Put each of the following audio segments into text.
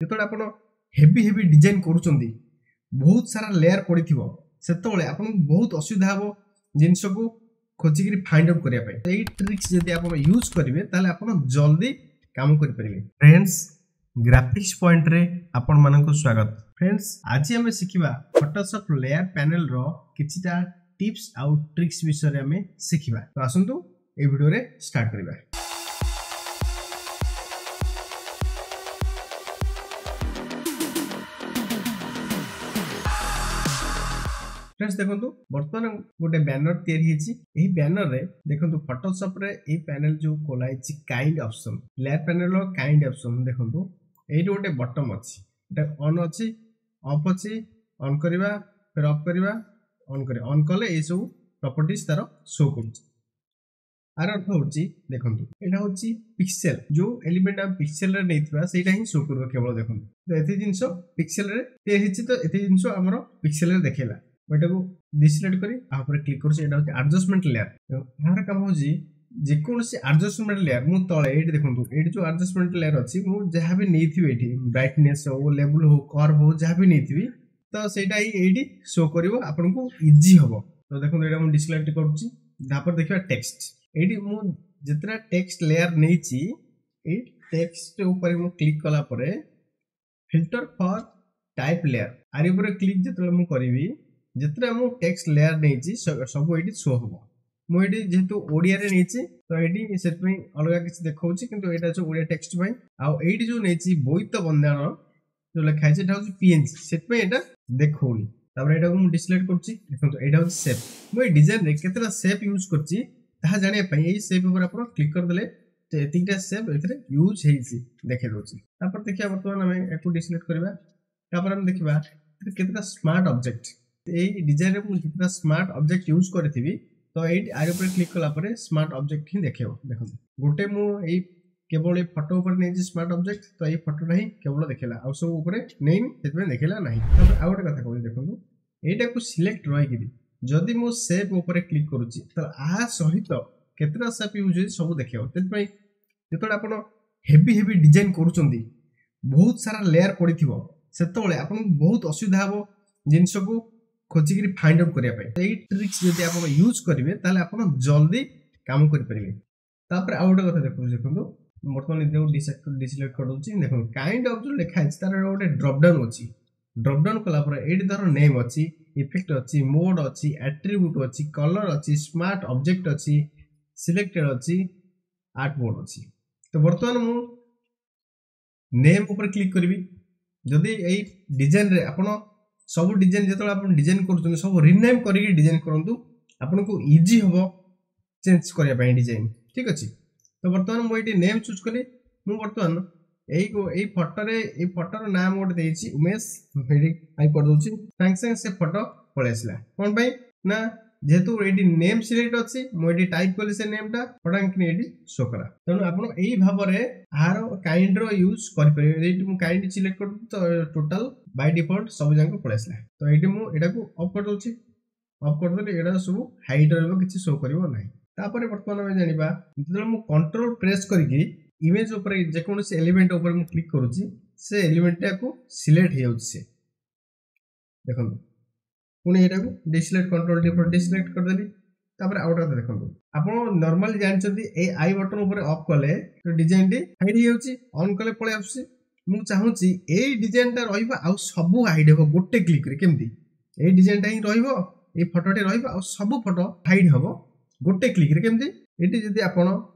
ଯେତେବେଳେ ଆପଣ heavy heavy design କରୁଛନ୍ତି, ବହୁତ ସାରା ଲେୟାର ପଡ଼ିଥିବ, ସେତେବେଳେ ଆପଣଙ୍କୁ ବହୁତ ଅସୁବିଧା ହେବ ଜିନିଷକୁ ଖୋଜିକିରି ଫାଇଣ୍ଡ ଆଉଟ୍ କରିବା ପାଇଁ। ଏଇ ଟ୍ରିକ୍ସ ଯଦି ଆପଣ ୟୁଜ୍ କରିବେ, ତାହେଲେ ଆପଣ ଜଲ୍ଦି କାମ କରିପାରିବେ। ଫ୍ରେଣ୍ଡସ୍, ଗ୍ରାଫିକ୍ସ ପଏଣ୍ଟରେ ଆପଣମାନଙ୍କୁ ସ୍ୱାଗତ। ଫ୍ରେଣ୍ଡସ୍, ଆଜି ଆମେ ଶିଖିବା ଫଟୋସପ୍ ଲେୟାର ପ୍ୟାନେଲର କିଛିଟା ଟିପ୍ସ ଆଉ ଟ୍ରିକ୍ସ ବିଷୟରେ ଆମେ ଶିଖିବା। ତ ଆସନ୍ତୁ ଏଇ ଭିଡ଼ିଓରେ ଷ୍ଟାର୍ଟ କରିବା। ଫ୍ରେଣ୍ଡସ୍ ଦେଖନ୍ତୁ, ବର୍ତ୍ତମାନ ଗୋଟେ ବ୍ୟାନର ତିଆରି ହେଇଛି। ଏହି ବ୍ୟାନରରେ ଦେଖନ୍ତୁ, ଫଟୋସପରେ ଏଇ ପ୍ୟାନେଲ ଯୋଉ ଖୋଲା ହେଇଛି, କାଇଣ୍ଡ ଅପସନ୍, ଲେୟାର ପ୍ୟାନେଲର କାଇଣ୍ଡ ଅପସନ୍ ଦେଖନ୍ତୁ। ଏଇଠି ଗୋଟେ ବଟନ୍ ଅଛି, ଏଟା ଅନ୍ ଅଛି, ଅଫ୍ ଅଛି। ଅନ୍ କରିବା, ଫେର ଅଫ୍ କରିବା, ଅନ୍ କରିବା। ଅନ୍ କଲେ ଏଇସବୁ ପ୍ରପର୍ଟିଜ ତାର ଶୋ କରୁଛି। ଆର ଅର୍ଥ ହଉଛି, ଦେଖନ୍ତୁ, ଏଇଟା ହଉଛି ପିକ୍ସେଲ। ଯୋଉ ଏଲିମେଣ୍ଟ ଆମେ ପିକ୍ସେଲରେ ନେଇଥିବା, ସେଇଟା ହିଁ ଶୋ କରିବ କେବଳ। ଦେଖନ୍ତୁ ତ, ଏତେ ଜିନିଷ ପିକ୍ସେଲରେ ତିଆରି ହେଇଛି, ତ ଏତେ ଜିନିଷ ଆମର ପିକ୍ସେଲରେ ଦେଖେଇଲା। ମୁଁ ଏଟାକୁ ଡିସିଲେକ୍ଟ କରି ଆ ଉପରେ କ୍ଲିକ୍ କରୁଛି। ଏଇଟା ହଉଛି ଆଡଜଷ୍ଟମେଣ୍ଟ ଲେୟାର। ଏହାର କାମ ହଉଛି ଯେକୌଣସି ଆଡଜଷ୍ଟମେଣ୍ଟ ଲେୟାର ମୁଁ ତଳେ ଏଇଠି ଦେଖନ୍ତୁ, ଏଇଠି ଯୋଉ ଆଡଜଷ୍ଟମେଣ୍ଟ ଲେୟାର ଅଛି, ମୁଁ ଯାହା ବି ନେଇଥିବି ଏଇଠି, ବ୍ରାଇଟନେସ୍ ହଉ, ଲେବୁଲ ହଉ, କର୍ଭ ହଉ, ଯାହା ବି ନେଇଥିବି, ତ ସେଇଟା ହିଁ ଏଇଠି ଶୋ କରିବ, ଆପଣଙ୍କୁ ଇଜି ହବ। ତ ଦେଖନ୍ତୁ, ଏଇଟା ମୁଁ ଡିସିଲେକ୍ଟ କରୁଛି। ତାପରେ ଦେଖିବା ଟେକ୍ସଟ। ଏଇଠି ମୁଁ ଯେତେଟା ଟେକ୍ସଟ ଲେୟାର ନେଇଛି, ଏଇ ଟେକ୍ସଟ ଉପରେ ମୁଁ କ୍ଲିକ୍ କଲା ପରେ ଫିଲ୍ଟର ଫର୍ ଟାଇପ୍ ଲେୟାର, ଆରି ଉପରେ କ୍ଲିକ୍ ଯେତେବେଳେ ମୁଁ କରିବି, ଯେତେଟା ମୁଁ ଟେକ୍ସଟ ଲେୟାର ନେଇଛି ସବୁ ଏଇଠି ଶୋ ହବ। ମୁଁ ଏଇଠି ଯେହେତୁ ଓଡ଼ିଆରେ ନେଇଛି, ତ ଏଇଠି ସେଥିପାଇଁ ଅଲଗା କିଛି ଦେଖାଉଛି, କିନ୍ତୁ ଏଇଟା ହେଉଛି ଓଡ଼ିଆ ଟେକ୍ସଟ ପାଇଁ। ଆଉ ଏଇଠି ଯୋଉ ନେଇଛି ବୋଇତ ବନ୍ଦାଣ ଯୋଉ ଲେଖା ହେଇଛି, ଏଇଟା ହେଉଛି ପିଏନଜି, ସେଥିପାଇଁ ଏଇଟା ଦେଖଉନି। ତାପରେ ଏଇଟାକୁ ମୁଁ ଡିସିଲେକ୍ଟ କରୁଛି। ଦେଖନ୍ତୁ, ଏଇଟା ହେଉଛି ସେପ୍। ମୁଁ ଏଇ ଡିଜାଇନରେ କେତେଟା ସେପ୍ ୟୁଜ୍ କରିଛି ତାହା ଜାଣିବା ପାଇଁ ଏଇ ସେପ୍ ଉପରେ ଆପଣ କ୍ଲିକ୍ କରିଦେଲେ, ତ ଏତିକିଟା ସେପ୍ ଏଥିରେ ୟୁଜ୍ ହେଇଛି ଦେଖେଇ ଦେଉଛି। ତାପରେ ଦେଖିବା, ବର୍ତ୍ତମାନ ଆମେ ଏହାକୁ ଡିସିଲେକ୍ଟ କରିବା। ତାପରେ ଆମେ ଦେଖିବା କେତେଟା ସ୍ମାର୍ଟ ଅବଜେକ୍ଟ। ଏଇ ଡିଜାଇନରେ ମୁଁ ଯେତେଟା ସ୍ମାର୍ଟ ଅବଜେକ୍ଟ ୟୁଜ୍ କରିଥିବି, ତ ଏଇଠି ଆରି ଉପରେ କ୍ଲିକ୍ କଲା ପରେ ସ୍ମାର୍ଟ ଅବଜେକ୍ଟ ହିଁ ଦେଖେଇବ। ଦେଖନ୍ତୁ, ଗୋଟେ ମୁଁ ଏଇ କେବଳ ଏଇ ଫଟୋ ଉପରେ ନେଇଛି ସ୍ମାର୍ଟ ଅବଜେକ୍ଟ, ତ ଏଇ ଫଟୋଟା ହିଁ କେବଳ ଦେଖେଇଲା, ଆଉ ସବୁ ଉପରେ ନେଇନି, ସେଥିପାଇଁ ଦେଖେଇଲା ନାହିଁ। ତାପରେ ଆଉ ଗୋଟେ କଥା କହୁଛି, ଦେଖନ୍ତୁ, ଏଇଟାକୁ ସିଲେକ୍ଟ ରହିକିରି ଯଦି ମୁଁ ସେପ୍ ଉପରେ କ୍ଲିକ୍ କରୁଛି, ତ ଆ ସହିତ କେତେଟା ସେପ୍ ୟୁଜ୍ ହେଇଛି ସବୁ ଦେଖେଇବ। ସେଥିପାଇଁ ଯେତେବେଳେ ଆପଣ ହେଭି ହେଭି ଡିଜାଇନ୍ କରୁଛନ୍ତି, ବହୁତ ସାରା ଲେୟାର ପଡ଼ିଥିବ, ସେତେବେଳେ ଆପଣଙ୍କୁ ବହୁତ ଅସୁବିଧା ହେବ ଜିନିଷକୁ ଖୋଜିକିରି ଫାଇଣ୍ଡ ଆଉଟ୍ କରିବା ପାଇଁ। ଏଇ ଟ୍ରିକ୍ସ ଯଦି ଆପଣ ୟୁଜ୍ କରିବେ, ତାହେଲେ ଆପଣ ଜଲ୍ଦି କାମ କରିପାରିବେ। ତାପରେ ଆଉ ଗୋଟେ କଥା ଦେଖନ୍ତୁ। ଦେଖନ୍ତୁ, ବର୍ତ୍ତମାନ ଏଟାକୁ ଡିସିଲେକ୍ଟ କରିଦେଉଛି। ଦେଖନ୍ତୁ, କାଇଣ୍ଡ ଅଫ୍ ଯୋଉ ଲେଖା ହେଇଛି, ତାର ଗୋଟେ ଡ୍ରପ୍ ଡାଉନ୍ ଅଛି। ଡ୍ରପ୍ ଡାଉନ୍ କଲା ପରେ ଏଇଠି ଧର ନେମ୍ ଅଛି, ଇଫେକ୍ଟ ଅଛି, ମୋଡ୍ ଅଛି, ଆଟ୍ରିବ୍ୟୁଟ୍ ଅଛି, କଲର୍ ଅଛି, ସ୍ମାର୍ଟ ଅବଜେକ୍ଟ ଅଛି, ସିଲେକ୍ଟେଡ୍ ଅଛି, ଆର୍ଟ ମୋଡ୍ ଅଛି। ତ ବର୍ତ୍ତମାନ ମୁଁ ନେମ୍ ଉପରେ କ୍ଲିକ୍ କରିବି। ଯଦି ଏଇ ଡିଜାଇନରେ ଆପଣ ସବୁ ଡିଜାଇନ, ଯେତେବେଳେ ଆପଣ ଡିଜାଇନ କରୁଛନ୍ତି, ସବୁ ରିନେମ୍ କରିକି ଡିଜାଇନ କରନ୍ତୁ, ଆପଣଙ୍କୁ ଇଜି ହେବ ଚେଞ୍ଜ କରିବା ପାଇଁ ଡିଜାଇନ। ଠିକ୍ ଅଛି। ତ ବର୍ତ୍ତମାନ ମୁଁ ଏଇଠି ନେମ୍ ଚୁଜ୍ କଲି। ମୁଁ ବର୍ତ୍ତମାନ ଏଇ ଫଟୋରେ, ଏଇ ଫଟୋର ନାଁ ମୁଁ ଗୋଟେ ଦେଇଛି ଉମେଶ, ଏଇଠି I କରିଦେଉଛି। ସାଙ୍ଗେ ସାଙ୍ଗେ ସେ ଫଟୋ ପଳେଇ ଆସିଲା। କ'ଣ ପାଇଁ ନା ଯେହେତୁ ଏଇଠି ନେମ୍ ସିଲେକ୍ଟ ଅଛି, ମୁଁ ଏଇଠି ଟାଇପ୍ କଲି ସେ ନେମ୍ଟା, ଫଟାଙ୍କିନି ଏଇଠି ଶୋ କଲା। ତେଣୁ ଆପଣ ଏଇ ଭାବରେ ଆର କାଇଣ୍ଡର ୟୁଜ୍ କରିପାରିବେ। ଏଇଠି ମୁଁ କାଇଣ୍ଡ ସିଲେକ୍ଟ କରୁଛି, ତ ଟୋଟାଲ ବାଇ ଡିଫଲ୍ଟ ସବୁ ଯାକ ପଳେଇ ଆସିଲା। ତ ଏଇଠି ମୁଁ ଏଇଟାକୁ ଅଫ୍ କରିଦେଉଛି। ଅଫ୍ କରିଦେଲେ ଏଇଟା ସବୁ ହାଇଡ୍ ରହିବ, କିଛି ଶୋ କରିବ ନାହିଁ। ତାପରେ ବର୍ତ୍ତମାନ ଆମେ ଜାଣିବା, ଯେତେବେଳେ ମୁଁ କଣ୍ଟ୍ରୋଲ ପ୍ରେସ୍ କରିକି ଇମେଜ୍ ଉପରେ, ଯେକୌଣସି ଏଲିମେଣ୍ଟ ଉପରେ ମୁଁ କ୍ଲିକ୍ କରୁଛି, ସେ ଏଲିମେଣ୍ଟଟାକୁ ସିଲେକ୍ଟ ହେଇଯାଉଛି ସେ। ଦେଖନ୍ତୁ, ପୁଣି ଏଇଟାକୁ ଡିସିଲେକ୍ଟ, କଣ୍ଟ୍ରୋଲ ଟି ଡିସିଲେକ୍ଟ କରିଦେଲି। ତାପରେ ଆଉ ଗୋଟେ କଥା ଦେଖନ୍ତୁ, ଆପଣ ନର୍ମାଲି ଜାଣିଛନ୍ତି, ଏଇ I button ଉପରେ ଅଫ୍ କଲେ ତ ଡିଜାଇନଟି ହାଇଡ୍ ହେଇଯାଉଛି, ଅନ୍ କଲେ ପଳେଇ ଆସୁଛି। ମୁଁ ଚାହୁଁଛି ଏଇ ଡିଜାଇନଟା ରହିବ ଆଉ ସବୁ ହାଇଡ୍ ହେବ ଗୋଟେ କ୍ଲିକ୍ରେ। କେମିତି? ଏଇ ଡିଜାଇନଟା ହିଁ ରହିବ, ଏଇ ଫଟୋଟି ରହିବ ଆଉ ସବୁ ଫଟୋ ହାଇଡ୍ ହେବ ଗୋଟେ କ୍ଲିକ୍ରେ, କେମିତି? ଏଠି ଯଦି ଆପଣ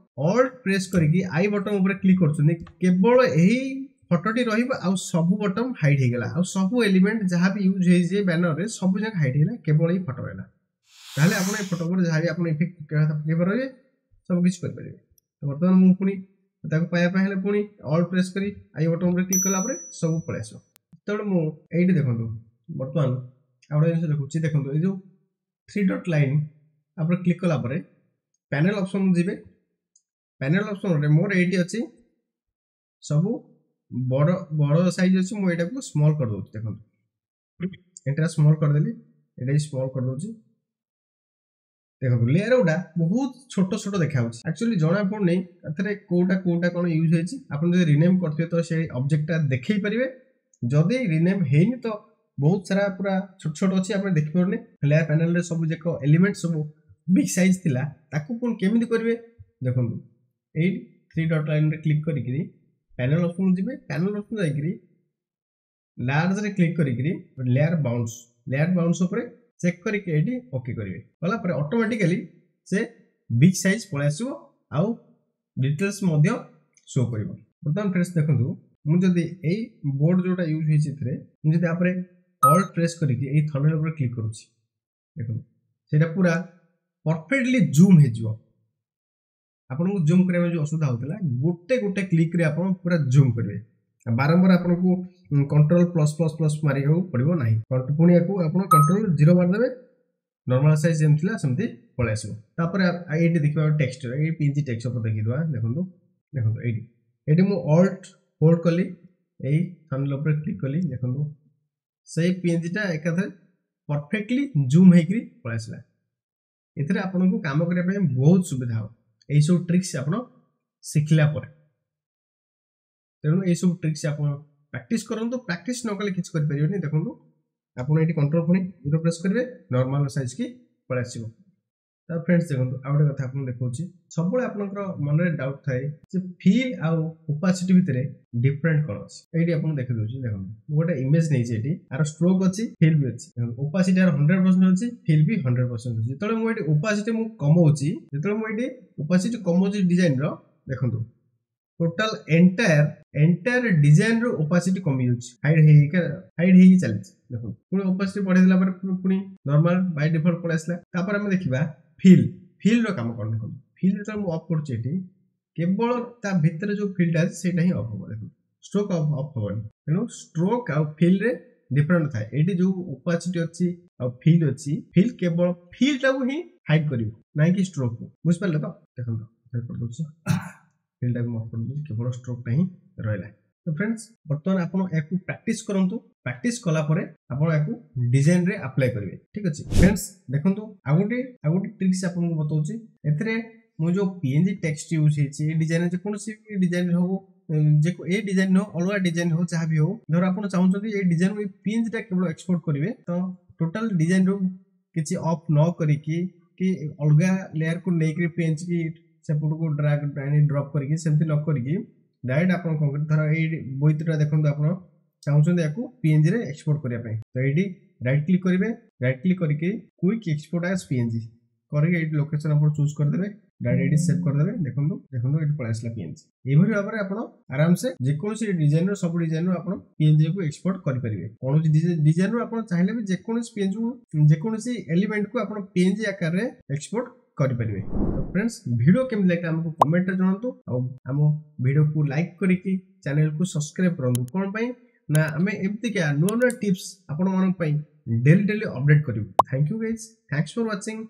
ଅଲ୍ଟ ପ୍ରେସ୍ କରିକି I button ଉପରେ କ୍ଲିକ୍ କରୁଛନ୍ତି, କେବଳ ଏହି ଫଟୋଟି ରହିବ ଆଉ ସବୁ ବଟନ୍ ହାଇଡ୍ ହେଇଗଲା, ଆଉ ସବୁ ଏଲିମେଣ୍ଟ ଯାହା ବି ୟୁଜ୍ ହେଇଛି ବ୍ୟାନରରେ ସବୁ ଯାକ ହାଇଡ୍ ହେଇଗଲା, କେବଳ ଏଇ ଫଟୋ ରହିଲା। ତାହେଲେ ଆପଣ ଏ ଫଟୋ ଉପରେ ଯାହା ବି ଆପଣ ଇଫେକ୍ଟ ପକେଇବା କଥା ପକେଇ ପାରିବେ, ସବୁ କିଛି କରିପାରିବେ। ତ ବର୍ତ୍ତମାନ ମୁଁ ପୁଣି ତାକୁ ପାଇବା ପାଇଁ ହେଲେ ପୁଣି ଅଲ୍ଟ ପ୍ରେସ୍ କରି I button ଉପରେ କ୍ଲିକ୍ କଲା ପରେ ସବୁ ପଳେଇ ଆସିବ। ତେଣୁ ମୁଁ ଏଇଠି ଦେଖନ୍ତୁ, ବର୍ତ୍ତମାନ ଆଉ ଗୋଟେ ଜିନିଷ ଦେଖୁଛି। ଦେଖନ୍ତୁ, ଏଇ ଯେଉଁ ଥ୍ରୀ ଡଟ୍ ଲାଇନ୍ ଆପଣ କ୍ଲିକ୍ କଲା ପରେ ପ୍ୟାନେଲ୍ ଅପସନ୍ ଯିବେ। ପ୍ୟାନେଲ୍ ଅପସନ୍ରେ ମୋର ଏଇଠି ଅଛି ସବୁ ବଡ଼ ବଡ଼ ସାଇଜ୍ ଅଛି, ମୁଁ ଏଇଟାକୁ ସ୍ମଲ୍ କରିଦେଉଛି। ଦେଖନ୍ତୁ, ଏଇଟା ସ୍ମଲ୍ କରିଦେଲି, ଏଇଟା ବି ସ୍ମଲ୍ କରିଦେଉଛି। ଦେଖନ୍ତୁ, ଲେୟାର ଗୁଡ଼ା ବହୁତ ଛୋଟ ଛୋଟ ଦେଖାଯାଉଛି। ଆକ୍ଚୁଆଲି ଜଣା ପଡୁନି ଏଥିରେ କୋଉଟା କୋଉଟା କ'ଣ ୟୁଜ୍ ହେଇଛି। ଆପଣ ଯଦି ରିନେମ୍ କରିଥିବେ ତ ସେଇ ଅବଜେକ୍ଟଟା ଦେଖେଇ ପାରିବେ। ଯଦି ରିନେମ୍ ହେଇନି ତ ବହୁତ ସାରା ପୁରା ଛୋଟ ଛୋଟ ଅଛି, ଆପଣ ଦେଖିପାରୁନି। ଲେୟାର ପ୍ୟାନେଲରେ ସବୁ ଯାକ ଏଲିମେଣ୍ଟ ସବୁ ବିଗ୍ ସାଇଜ୍ ଥିଲା, ତାକୁ ପୁଣି କେମିତି କରିବେ? ଦେଖନ୍ତୁ, ଏଇଠି ଥ୍ରୀ ଡଟ୍ ଲାଇନ୍ରେ କ୍ଲିକ୍ କରିକିରି ପ୍ୟାନେଲ ଅପସନ୍ ଯିବେ। ପ୍ୟାନେଲ ଅପସନ୍ ଯାଇକିରି ଲାର୍ଜରେ କ୍ଲିକ୍ କରିକିରି ଲେୟାର ବାଉନ୍ସ, ଲେୟାର ବାଉନ୍ସ ଉପରେ ଚେକ୍ କରିକି ଏଇଠି ଓକେ କରିବେ। କଲା ପରେ ଅଟୋମେଟିକାଲି ସେ ବିଗ୍ ସାଇଜ୍ ପଳେଇ ଆସିବ ଆଉ ଡିଟେଲ୍ସ ମଧ୍ୟ ଶୋ କରିବ। ବର୍ତ୍ତମାନ ଫ୍ରେଣ୍ଡସ୍ ଦେଖନ୍ତୁ, ମୁଁ ଯଦି ଏଇ ବୋର୍ଡ ଯୋଉଟା ୟୁଜ୍ ହେଇଛି ଏଥିରେ, ମୁଁ ଯଦି ତାପରେ ଅଲ୍ଟ ପ୍ରେସ୍ କରିକି ଏଇ ଥମ୍ବନେଲ୍ ଉପରେ କ୍ଲିକ୍ କରୁଛି, ଦେଖନ୍ତୁ ସେଇଟା ପୁରା ପରଫେକ୍ଟଲି ଜୁମ୍ ହେଇଯିବ। ଆପଣଙ୍କୁ ଜୁମ୍ କରିବା ପାଇଁ ଯେଉଁ ଅସୁବିଧା ହେଉଥିଲା, ଗୋଟେ ଗୋଟେ କ୍ଲିକ୍ରେ ଆପଣ ପୁରା ଜୁମ୍ କରିବେ। ବାରମ୍ବାର ଆପଣଙ୍କୁ କଣ୍ଟ୍ରୋଲ ପ୍ଲସ୍ ପ୍ଲସ୍ ପ୍ଲସ୍ ମାରିବାକୁ ପଡ଼ିବ ନାହିଁ। ପୁଣି ୟାକୁ ଆପଣ କଣ୍ଟ୍ରୋଲ ଜିରୋ ମାରିଦେବେ, ନର୍ମାଲ ସାଇଜ୍ ଯେମିତି ଥିଲା ସେମିତି ପଳେଇ ଆସିବ। ତାପରେ ଏଇଠି ଦେଖିବା ଟେକ୍ସଟ, ଏଇ ପିଏନଜି ଟେକ୍ସଟ ଉପରେ ଦେଖିଦେବା। ଦେଖନ୍ତୁ, ଏଇଠି ମୁଁ ଅଲ୍ଟ ହୋଲ୍ଡ କଲି, ଏଇ ଥମ୍ବନେଲ୍ ଉପରେ କ୍ଲିକ୍ କଲି। ଦେଖନ୍ତୁ, ସେଇ ପିଏନଜିଟା ଏକାଥରେ ପରଫେକ୍ଟଲି ଜୁମ୍ ହେଇକିରି ପଳେଇ ଆସିଲା। ଏଥିରେ ଆପଣଙ୍କୁ କାମ କରିବା ପାଇଁ ବହୁତ ସୁବିଧା ହେବ ଏଇସବୁ ଟ୍ରିକ୍ସ ଆପଣ ଶିଖିଲା ପରେ। ତେଣୁ ଏଇସବୁ ଟ୍ରିକ୍ସ ଆପଣ ପ୍ରାକ୍ଟିସ୍ କରନ୍ତୁ। ପ୍ରାକ୍ଟିସ୍ ନ କଲେ କିଛି କରିପାରିବେନି। ଦେଖନ୍ତୁ, ଆପଣ ଏଇଠି କଣ୍ଟ୍ରୋଲ ପୁଣି ଜିରୋ ପ୍ରେସ୍ କରିବେ, ନର୍ମାଲ ସାଇଜ୍ କି ପଳେଇ ଆସିବ। ତ ଫ୍ରେଣ୍ଡସ୍ ଦେଖନ୍ତୁ, ଆଉ ଗୋଟେ କଥା ଆପଣଙ୍କୁ ଦେଖାଉଛି। ସବୁବେଳେ ଆପଣଙ୍କର ମନରେ ଡାଉଟ୍ ଥାଏ ଯେ ଫିଲ୍ ଆଉ ଓପାସିଟି ଭିତରେ ଡିଫରେଣ୍ଟ କ'ଣ ଅଛି। ଏଇଠି ଆପଣଙ୍କୁ ଦେଖିଦେଉଛି। ଦେଖନ୍ତୁ, ମୁଁ ଗୋଟେ ଇମେଜ ନେଇଛି। ଏଇଠି ଆର ଷ୍ଟ୍ରୋକ୍ ଅଛି, ଫିଲ୍ ବି ଅଛି। ଦେଖନ୍ତୁ, ଓପାସିଟି ଆର 100% ଅଛି, ଫିଲ୍ ବି 100% ଅଛି। ଯେତେବେଳେ ମୁଁ ଏଇଠି ଓପାସିଟି ମୁଁ କମଉଛି, ଯେତେବେଳେ ମୁଁ ଏଇଠି ଓପାସିଟି କମଉଛି ଡିଜାଇନର, ଦେଖନ୍ତୁ, ଟୋଟାଲ ଏଣ୍ଟାୟାର ଡିଜାଇନର ଓପାସିଟି କମିଯାଉଛି, ହାଇଡ୍ ହେଇକି ଚାଲିଛି। ଦେଖନ୍ତୁ, ପୁଣି ଓପାସିଟି ବଢେଇ ଦେଲା ପରେ ପୁଣି ନର୍ମାଲ ବାଇ ଡିଫଲ୍ଟ ପଳେଇ ଆସିଲା। ତାପରେ ଆମେ ଦେଖିବା ଫିଲ୍। ଫିଲ୍ର କାମ କ'ଣ? ଦେଖନ୍ତୁ, ଫିଲ୍ ଯେତେବେଳେ ମୁଁ ଅଫ୍ କରୁଛି, ଏଠି କେବଳ ତା ଭିତରେ ଯୋଉ ଫିଲ୍ଟା ଅଛି ସେଇଟା ହିଁ ଅଫ୍ ହବ। ଦେଖନ୍ତୁ, ଷ୍ଟ୍ରୋକ୍ ଅଫ୍ ହବନି। ତେଣୁ ଷ୍ଟ୍ରୋକ୍ ଆଉ ଫିଲ୍ରେ ଡିଫରେଣ୍ଟ ଥାଏ। ଏଇଠି ଯୋଉ ଓପାସିଟି ଅଛି ଆଉ ଫିଲ୍ ଅଛି, ଫିଲ୍ କେବଳ ଫିଲ୍ଟାକୁ ହିଁ ହାଇଡ୍ କରିବ, ନାଇଁ କି ଷ୍ଟ୍ରୋକ୍କୁ। ବୁଝିପାରିଲେ ତ? ଦେଖନ୍ତୁ, କରିଦେଉଛି, ଫିଲ୍ଟାକୁ ମୁଁ ଅଫ୍ କରିଦେଉଛି, କେବଳ ଷ୍ଟ୍ରୋକ୍ଟା ହିଁ ରହିଲା। ତ ଫ୍ରେଣ୍ଡସ୍, ବର୍ତ୍ତମାନ ଆପଣ ଏହାକୁ ପ୍ରାକ୍ଟିସ୍ କରନ୍ତୁ। ପ୍ରାକ୍ଟିସ୍ କଲା ପରେ ଆପଣ ଏହାକୁ ଡିଜାଇନରେ ଆପ୍ଲାଏ କରିବେ। ଠିକ ଅଛି ଫ୍ରେଣ୍ଡସ୍, ଦେଖନ୍ତୁ, ଆଉ ଗୋଟେ ଟ୍ରିକ୍ସ ଆପଣଙ୍କୁ ବତାଉଛି। ଏଥିରେ ମୁଁ ଯୋଉ ପିଏନଜି ଟେକ୍ସଟ ୟୁଜ୍ ହେଇଛି ଏ ଡିଜାଇନ, ଯେକୌଣସି ଡିଜାଇନ ହଉ, ଏ ଡିଜାଇନ ହଉ, ଅଲଗା ଡିଜାଇନ ହଉ, ଯାହା ବି ହଉ, ଧର ଆପଣ ଚାହୁଁଛନ୍ତି ଏଇ ଡିଜାଇନ, ଏଇ ପିଏନଜିଟା କେବଳ ଏକ୍ସପୋର୍ଟ କରିବେ, ତ ଟୋଟାଲ ଡିଜାଇନରୁ କିଛି ଅଫ୍ ନ କରିକି କି ଅଲଗା ଲେୟାରକୁ ନେଇକରି ପିଏନଜି କି ସେପଟକୁ ଡ୍ରାଗ ଆଣି ଡ୍ରପ୍ କରିକି, ସେମିତି ନ କରିକି ଡାଇରେକ୍ଟ ଆପଣ କ'ଣ କରିବେ? ଧର ଏଇ ବୋଇତଟା ଦେଖନ୍ତୁ, ଆପଣ ଚାହୁଁଛନ୍ତି ୟାକୁ ପିଏନଜିରେ ଏକ୍ସପୋର୍ଟ କରିବା ପାଇଁ, ତ ଏଇଠି ରାଇଟ୍ କ୍ଲିକ୍ କରିବେ। ରାଇଟ୍ କ୍ଲିକ୍ କରିକି କୁଇକ୍ ଏକ୍ସପୋର୍ଟ ଆଜ୍ ପିଏନଜି କରିକି ଏଇଠି ଲୋକେସନ ଆପଣ ଚୁଜ୍ କରିଦେବେ, ଡାଇରେକ୍ଟ ଏଇଠି ସେଭ୍ କରିଦେବେ। ଦେଖନ୍ତୁ, ଏଇଠି ପଳେଇ ଆସିଲା ପିଏନଜି। ଏଇଭଳି ଭାବରେ ଆପଣ ଆରାମସେ ଯେକୌଣସି ଡିଜାଇନର, ସବୁ ଡିଜାଇନରୁ ଆପଣ ପିଏନଜି କୁ ଏକ୍ସପୋର୍ଟ କରିପାରିବେ। କୌଣସି ଡିଜାଇନରୁ ଆପଣ ଚାହିଁଲେ ବି ଯେକୌଣସି ପିଏନଜି, ଯେକୌଣସି ଏଲିମେଣ୍ଟକୁ ଆପଣ ପିଏନଜି ଆକାରରେ ଏକ୍ସପୋର୍ଟ କରିପାରିବେ। ତ ଫ୍ରେଣ୍ଡସ୍, ଭିଡ଼ିଓ କେମିତି ଲାଗିଲା ଆମକୁ କମେଣ୍ଟରେ ଜଣାନ୍ତୁ ଆଉ ଆମ ଭିଡ଼ିଓକୁ ଲାଇକ୍ କରିକି ଚ୍ୟାନେଲକୁ ସବସ୍କ୍ରାଇବ କରନ୍ତୁ। କ'ଣ ପାଇଁ ନା ଆମେ ଏମିତିକା ନୂଆ ନୂଆ ଟିପ୍ସ ଆପଣମାନଙ୍କ ପାଇଁ ଡେଲି ଡେଲି ଅପଡେଟ୍ କରିବୁ। Thank you guys, thanks for watching.